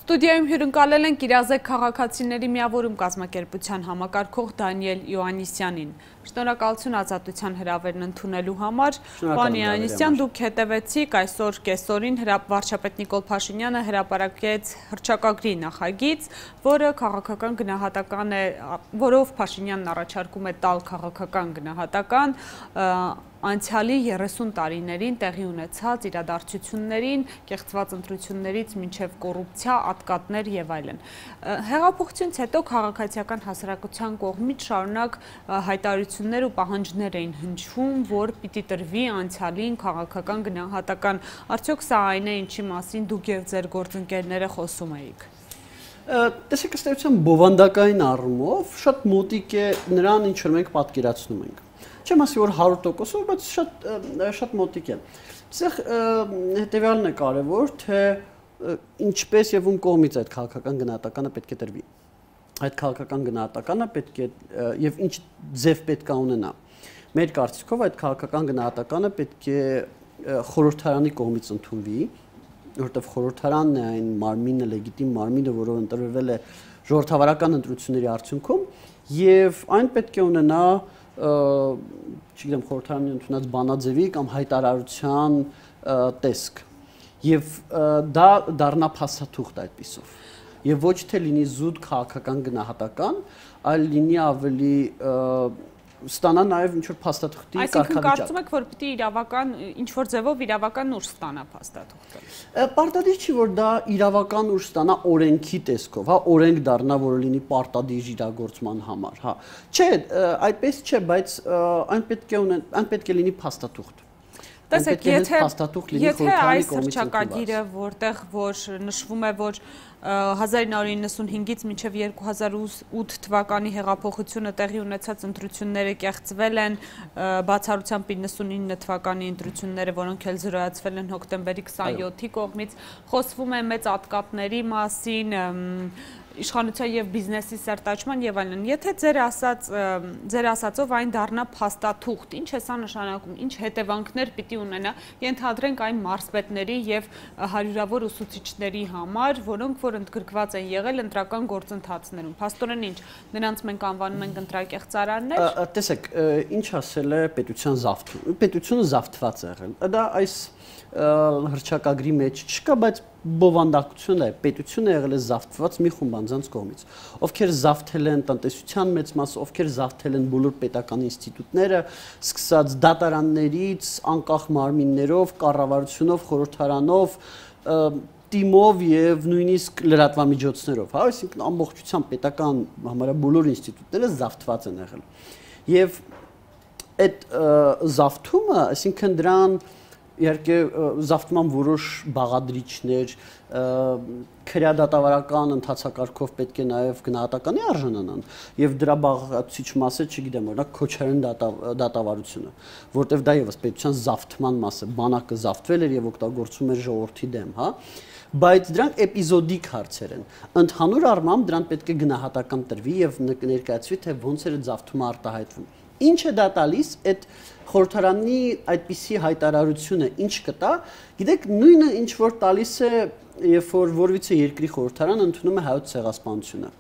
Ստուդիայում հյուրընկալել ենք իրազեկ քաղաքացիների միավորում կազմակերպության համակարգող Դանիել Յոաննիսյանին։ Շնորհակալություն ազատության հրավերն ընդունելու համար։ Պարոն Յոաննիսյան, դուք հետևեցիք այսօր կեսօրին վարչապետ Նիկոլ Փաշինյանը հրապարակեց հռչակագրի նախագիծ, որը քաղաքական գնահատական է, որով Փաշինյանն առաջարկում է տալ քաղաքական գնահատական անցյալի 30 տարիներին տեղի ունեցած իրադարձություններին, կեղծված ընտրություններից մինչև կոռուպցիա, ատկատներ եւ այլն։ Հեղափոխությունից հետո քաղաքացիական հասարակության կողմից շարունակ հայտարարություններ ու պահանջներ էին հնչում, որ պիտի տրվի անցյալին քաղաքական գնահատական։ Արդյոք սա այն է, ինչի մասին դուք եւ ձեր գործընկերները խոսում էիք։ Տեսեք, ըստ էության բովանդակային առումով շատ մոտիկ է նրան, ինչ որ մենք պատկերացնում ենք։ Չեմ ասի, որ 100%, բայց շատ մոտիկ է։ Այստեղ հետևյալն է կարևոր, թե ինչպես եւ ում կողմից այդ քաղաքական գնահատականը պետք է տրվի։ Այդ քաղաքական գնահատականը պետք է եւ ինչ ձև պետք է ունենա։ Մեր կարծիքով այդ քաղաքական գնահատականը պետք է խորհրդարանի կողմից ընդունվի, որովհետեւ խորհրդարանն է այն մարմինը, լեգիտիմ մարմինը, որով ընտրվել է ժողովրդավարական ընտրությունների արդյունքում, եւ այն պետք է ունենա չգիտեմ խորհրդարանի ընդունած բանաձևի կամ հայտարարության տեսք եւ դա դառնա փաստաթուղթ այդպիսով եւ ոչ թե լինի զուտ քաղաքական գնահատական, այլ լինի ավելի ստանա նաև ինչ որ փաստաթղթի կարգավիճակ։ Այսինքն կարծում եք, որ պիտի իրավական ինչ որ ձևով իրավական ուժ ստանա փաստաթուղթը։ Պարտադիր չի, որ դա իրավական ուժ ստանա օրենքի տեսքով, հա, օրենք դառնա, որը լինի պարտադիր իրագործման համար, հա։ Չէ, այդպես չէ, բայց այն պետք է լինի փաստաթուղթ։ Տեսեք, եթե այս հռչակագիրը, որտեղ որ նշվում է, որ 1995-ից մինչև 2008 թվականի հեղափոխությունը տեղի ունեցած ընտրությունները կեղծվել են, բացառությամբ 99 թվականի ընտրությունները, որոնք էլ զրոյացվել են հոկտեմբերի 27-ի կողմից, խոսվում է մեծ ատկատների մասին, իշխանության եւ բիզնեսի սերտաճման եւ այլն։ Եթե ձեր ասածով այն դառնա փաստաթուղթ, ինչ է սա նշանակում, ինչ հետևանքներ պիտի ունենա, ենթադրենք այն մարզպետների եւ հարյուրավոր ուսուցիչների համար, որոնք որ ընդգրկված են եղել ընտրական գործընթացներում։ Փաստորեն ինչ, նրանց մենք անվանում ենք ընտրակեղծարաններ։ Տեսեք, ինչ ասել է պետության զավթում։ Պետությունը զավթված է եղել։ Դա այս հռչակագրի մեջ չկա, բայց բովանդակություն է, պետությունը եղել է զավթված մի խումբ անձանց կողմից, ովքեր զավթել են տնտեսության մեծ մասը, ովքեր զավթել են բոլոր պետական ինստիտուտները, սկսած դատարաններից, անկախ մարմիններով, կառավարությունով, խորհրդարանով, թիմով եւ նույնիսկ լրատվամիջոցներով, հա, այսինքն ամբողջությամբ պետական համարյա բոլոր ինստիտուտները զավթված են եղել։ Եվ այդ զավթումը, այսինքն դրան իհարկե զավթման որոշ բաղադրիչներ, քրեադատավարական ընթացակարգով պետք է նաև գնահատականի արժանանան եւ դրա բաղացիչ մասը, չգիտեմ, օրինակ քոչարեն դատավարությունը, որտեվ դա եւս պետության զավթման մաս է, բանակը զավթվել էր եւ օգտագործում էր ժողովրդի դեմ, հա, բայց դրանք էպիզոդիկ հարցեր են։ Ընդհանուր առմամբ դրան պետք է գնահատական տրվի եւ ներկայացվի, թե ոնց էր զավթումը արտահայտվում։ Ինչ է դա տալիս այդ խորհրդարանի այդպիսի հայտարարությունը ինչ կտա, գիտեք, նույնը ինչ որ տալիս է, երբ որ որևիցե երկրի խորհրդարանը ընդունում է հայոց ցեղասպանությունը։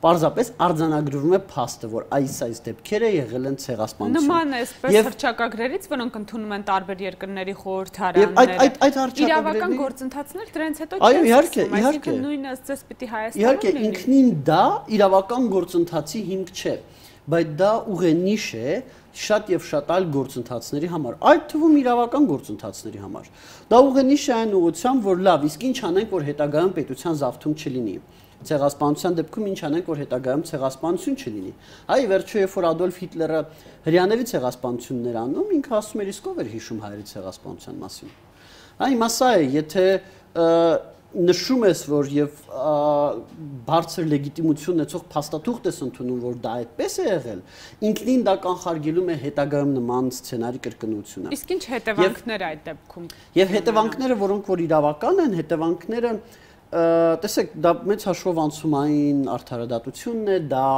Պարզապես արձանագրվում է փաստը, որ այս դեպքերը եղել են ցեղասպանություն։ Նման է այսպես հռչակագրերից, որոնք ընդունում են տարբեր երկրների խորհրդարանները։ Իրավական գործընթացներ դրանից հետո այո, իհարկե, նույնը ըստ պիտի Հայաստանում լինի։ Իհարկե, ինքնին դա իրավական գործընթացի հիմք չէ, բայց դա ուղենիշ է շատ եւ շատ այլ գործընթացների համար, այդ թվում իրավական գործընթացների համար։ Դա ուղենիշ է այն ուղղությամբ, որ լավ, իսկ ինչ անենք, որ հետագայում պետության զավթում չլինի։ Ցեղասպանության դեպքում ինչ անենք, որ հետագայում ցեղասպանություն չլինի։ Այ վերջո երբ որ Ադոլֆ Հիտլերը հрьяաների ցեղասպանություններ անում, ինքը ասում էր իսկ ով էր հիշում հայերի ցեղասպանության մասին։ Այ հիմա սա է, եթե նշում ես, որ եւ բարձր լեգիտիմություն ունեցող փաստաթուղթ ես ընդունում, որ դա այդպես է եղել, ինքնին դա կանխարգելում է հետագայում նման սցենարի կրկնությունը։ Իսկ ինչ հետևանքներ այդ դեպքում։ Եւ հետևանքները, որոնք որ իրավական են, հետևանքները, տեսեք, դա մեծ հաշվով անցումային արդարադատությունն է, դա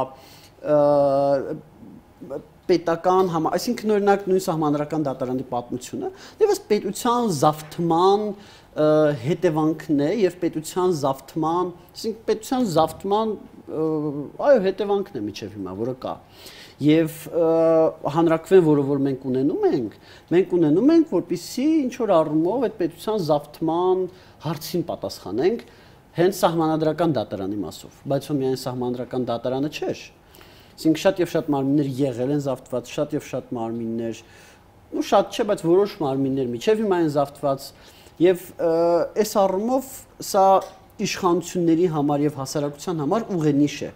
պետական այսինքն օրինակ նույն սահմանադրական դատարանի պատմությունը, դեպս պետության զավթման հետևանքն է եւ պետության զավթման, այսինքն պետության զավթման այո հետևանքն է միջև հիմա, որը կա։ Եվ հանրակրվեն, որը որ մենք ունենում ենք, որպեսզի ինչ որ առումով այդ պետության զավթման հարցին պատասխանենք հենց սահմանադրական դատարանի մասով, բայց ո միայն սահմանադրական դատարանը չէր։ Այսինքն շատ եւ շատ մարմիններ եղել են զավթված, շատ եւ շատ մարմիններ, ու շատ չէ, բայց որոշ մարմիններ միջև հիմա են զավթված եւ այս առումով սա իշխանությունների համար եւ հասարակության համար ուղենիշ է։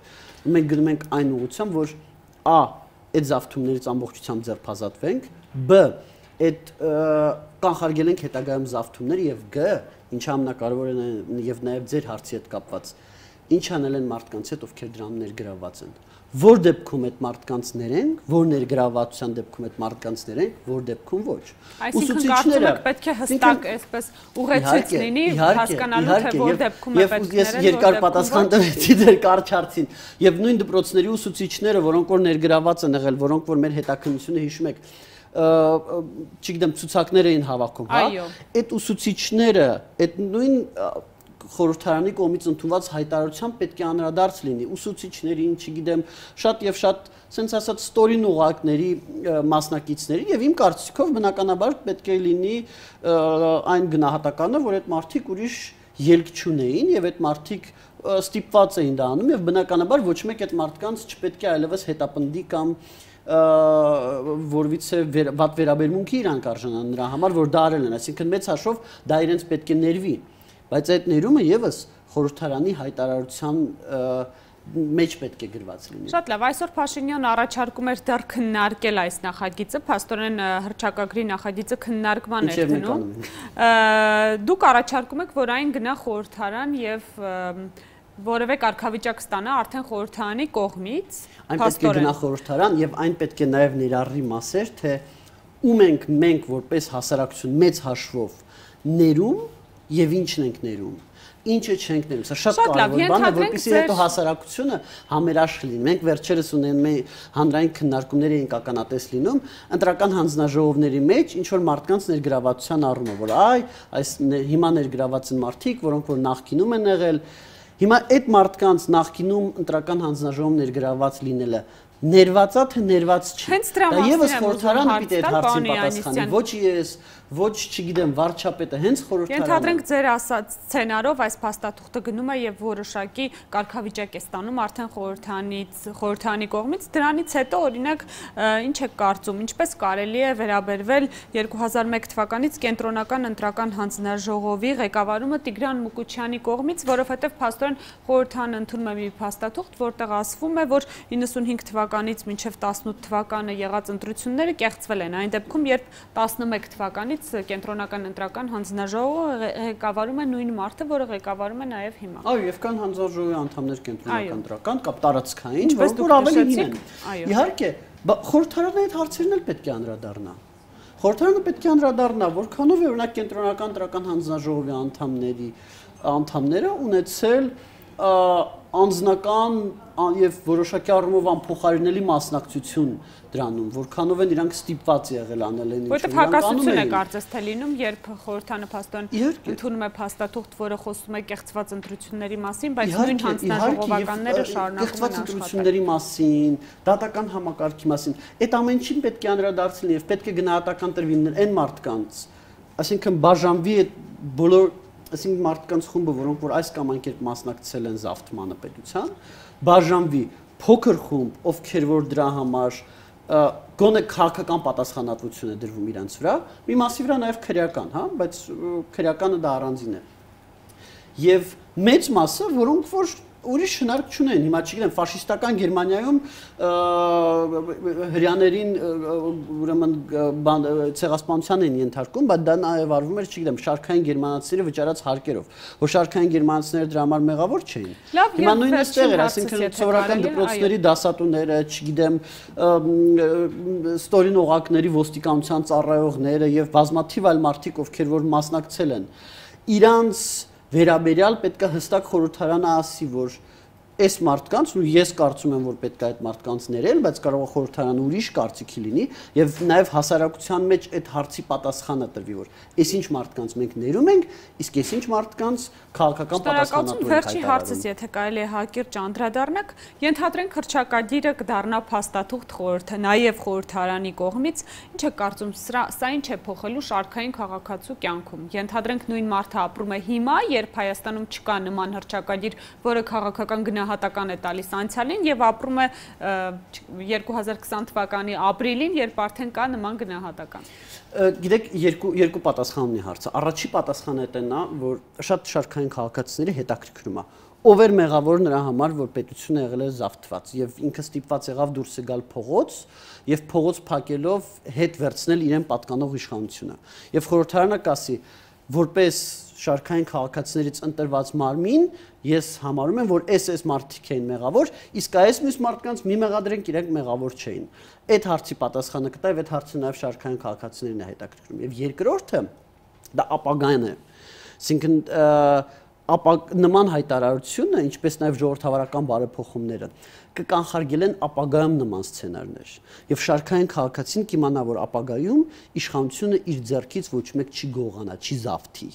Մենք գնում ենք այն ուղղությամբ, որ a այդ զավթումներից ամբողջությամբ ձերբազատվենք, b այդ կանխարգել ենք հետագայում զավթումները եւ g ինչը ամենակարևորն է եւ նաեւ ձեր հարցի հետ կապված ինչ անել են մարդկանց հետ, ովքեր դրան ներգրավված են։ Որ դեպքում այդ մարդկանցներ են, որ ներգրավվածության դեպքում այդ մարդկանցներ են, որ դեպքում ոչ։ Ուսուցիչները պետք է հստակ այսպես ուղեցույց լինի, հասկանալու թե որ դեպքում է պետք է։ Ես երկար պատասխան տվեցի դեր կարճ հարցին։ Եվ նույն դպրոցների ուսուցիչները, որոնք որ ներգրավված են եղել, որոնք որ մեր հետաքննությունը հիշում եք, չգիտեմ, ցուցակներ էին հավաքում, հա։ Այդ ուսուցիչները, այդ նույն խորհրդարանի կողմից ընդունված հայտարարությամբ պետք է անդրադարձ լինի ուսուցիչներին, չգիտեմ, շատ եւ շատ, sense ասած, ստորին ուղակների մասնակիցների եւ իմ կարծիքով բնականաբար պետք է լինի այն գնահատականը, որ այդ մարդիկ ուրիշ ելք չունեին եւ այդ մարդիկ ստիպված էին դա անում եւ բնականաբար ոչ մեկ այդ մարդկանց չպետք է այլևս հետապնդի կամ որովհետեւ վատ վերաբերմունքի իրանք արժանան նրա համար, որ դա արել են, այսինքն մեծ հաշվով դա իրենց պետք է ներվի։ Բայց այդ ներումը եւս խորհրդարանի հայտարարության մեջ պետք է գրված լինի։ Շատ լավ, այսօր Փաշինյանը առաջարկում էր դեռ քննարկել այս նախագիծը, փաստորեն հռչակագրի նախագիծը քննարկման էր դնում։ Դուք առաջարկում եք, որ այն գնա խորհրդարան եւ որևէ կարգավիճակ ստանա արդեն խորհրդարանի կողմից։ Այն պետք է գնա խորհրդարան եւ այն պետք է նաեւ ներառի մասեր, թե ում ենք մենք որպես հասարակություն մեծ հաշվով ներում եւ ինչն ենք ներում, ինչը չենք ներում, սա շատ կարևոր բան է, որպեսզի հետո հասարակությունը համերաշխ լինի։ Մենք վերջերս ունենում հանրային քննարկումներ էինք ականատես լինում, ընտրական հանձնաժողովների մեջ ինչ որ մարդկանց ներգրավվածության առումով, որ այս հիմա ներգրաված են մարդիկ, որոնք որ նախկինում են եղել, հիմա այդ մարդկանց նախկինում ընտրական հանձնաժողով ներգրաված լինելը ներվածա թե ներված չի։ Դա եւս խորհրդարանը պիտի այդ հարցին պատասխանի, ոչ ես, ոչ չգիտեմ վարչապետը, հենց խորհրդարանը։ Ենթադրենք ձեր ասած սցենարով այս փաստաթուղթը գնում է եւ որոշակի կարգավիճակ է ստանում արդեն խորհրդարանի կողմից, դրանից հետո օրինակ ինչ է կարծում, ինչպես կարելի է վերաբերվել 2001 թվականից կենտրոնական ընտրական հանձնաժողովի ղեկավարումը Տիգրան Մուկուչյանի կողմից, որովհետեւ փաստորեն խորհրդարանը ընդունում է մի փաստաթուղթ, որտեղ ասվում է, որ 95 թվականից մինչև 18 թվականը եղած ընտրությունները կեղծվել են։ Այն դեպքում, երբ 11 թվականից կենտրոնական ընտրական հանձնաժողովը ղեկավարում է նույն մարդը, որը ղեկավարում է նաև հիմա։ Այո, եւ կան հանձնաժողովի անդամներ կենտրոնական ընտրական կամ տարածքային, որոնք ավելի հին են։ Իհարկե, խորհրդարանը այդ հարցերն էլ պետք է անդրադառնա։ Խորհրդարանը պետք է անդրադառնա, որքանով է օրինակ կենտրոնական ընտրական հանձնաժողովի անդամները ունեցել անձնական եւ որոշակի առումով անփոխարինելի մասնակցություն դրանում, որքանով են իրանք ստիպված եղել անել են ինչ-որ։ Որտեղ հակասություն է կարծես թե լինում, երբ խորհրդարանը փաստորեն ընդունում է փաստաթուղթ, որը խոսում է կեղծված ընտրությունների մասին, բայց նույն հանձնաժողովականները շարունակում են աշխատել։ Կեղծված ընտրությունների մասին, դատական համակարգի մասին, այդ ամեն ինչին պետք է անդրադարձվի եւ պետք է գնահատական տրվի այն մարդկանց, այսինքն բաժանվի այդ բոլոր այսինքն մարդկանց խումբը, որոնք որ այս կամ այն կերպ մասնակցել են զավթմանը պետության, բաժանվի փոքր խումբ, ովքեր որ դրա համար գոնե քաղաքական պատասխանատվություն է դրվում իրանց վրա, մի մասի վրա նաև քրեական, հա, բայց քրեականը դա առանձին է։ Եվ մեծ մասը, որոնք որ ուրիշ հնարք չունեն, հիմա չգիտեմ, ֆաշիստական Գերմանիայում հրյաներին ուրեմն ցեղասպանության են ենթարկում, բայց դա նաև արվում էր, չգիտեմ, շարքային գերմանացիները վճարած հարկերով, որ շարքային գերմանացիները դրա համար մեղավոր չէին։ Հիմա նույնը ստեղ էր, այսինքն սովորական դպրոցների դասատուները, չգիտեմ, ստորին օղակների ոստիկանության ծառայողները եւ բազմաթիվ այլ մարդիկ, ովքեր որ մասնակցել են, իրանց վերաբերյալ պետք է հստակ խորհրդարանը ասի, որ այս մարդկանց ու ես կարծում եմ որ պետք է այդ մարդկանց ներել, բայց կարող է խորհրդարանը ուրիշ կարծիքի լինի եւ նաեւ հասարակության մեջ այդ հարցի պատասխանը տրվի որ այսինչ մարդկանց մենք ներում ենք, իսկ այսինչ մարդկանց քաղաքական պատասխանատվություն հայտարարում։ Վերջի հարցս, եթե կարելի է հակիրճ անդրադառնանք, ենթադրենք հռչակագիրը կդառնա փաստաթուղթ խորհրդը, նաեւ խորհրդարանի կողմից, ինչ է կարծում, սա ինչ է փոխելու շարքային քաղաքացու կյանքում։ Ենթադրենք նույն մարդը ապրում է հիմա, երբ Հայաստանում չկա նման հռչակագիր, որը քաղաքական գնահատական է տալիս անցյալին եւ ապրում է 2020 թվականի ապրիլին, երբ արդեն կա նման գնահատական։ Գիտեք, երկու պատասխան ունի հարցը։ Առաջի պատասխանը դա նա, որ շատ շարքային քաղաքացիների հետաքրքրում է։ Ով էր մեղավոր նրա համար, որ պետությունը եղել է զավթված եւ ինքը ստիպված եղավ դուրս գալ փողոց եւ փողոց փակելով հետ վերցնել իրեն պատկանող իշխանությունը։ Եվ խորհրդարանը կասի, որպես շարքային քաղաքացիներից ընտրված մարմին, ես համարում եմ, որ այս մարդիկ էին մեղավոր, իսկ այս մյուս մարդկանց մի մեղադրենք, իրենք մեղավոր չէին։ Այդ հարցի պատասխանը կտա եւ այդ հարցը նաեւ շարքային քաղաքացիներին է հետաքրքրում։ Եվ երկրորդը դա ապագան է։ Այսինքն նման հայտարարությունը, ինչպես նաև ժողովրդավարական բարեփոխումները, կկանխարգելեն ապագայում նման սցենարներ։ Եվ շարքային քաղաքացին կիմանա, որ ապագայում իշխանությունը իր ձեռքից ոչ մեկ չի գողանա, չի զավթի։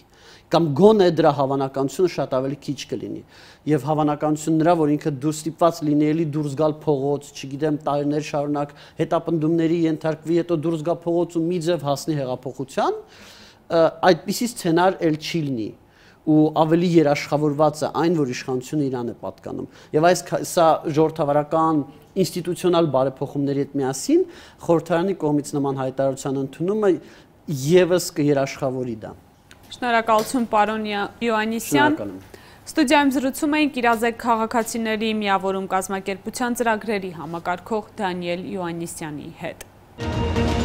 Կամ գոնե դրա հավանականությունը շատ ավելի քիչ կլինի։ Եվ հավանականությունը նրա, որ ինքը դուրս ստիպված լինի դուրս գալ փողոց, չգիտեմ, տարիներ շարունակ հետապնդումների ենթարկվի, հետո դուրս գա փողոց ու մի ձև հասնի հեղափոխության, այդպիսի սցենար էլ չի լինի։ Ու ավելի երաշխավորված է այն, որ իշխանությունը իրան է պատկանում։ Եվ սա ժողովրդավարական ինստիտուցիոնալ բարեփոխումների հետ միասին խորհրդարանի կողմից նման հայտարարության ընդունումը եւս կերաշխավորի դա։ Շնորհակալություն պարոն Յոաննիսյան։ Ստուդիայում զրուցում էինք իրազեկ քաղաքացիների միավորում կազմակերպության ծրագրերի համակարգող Դանիել Յոաննիսյանի հետ։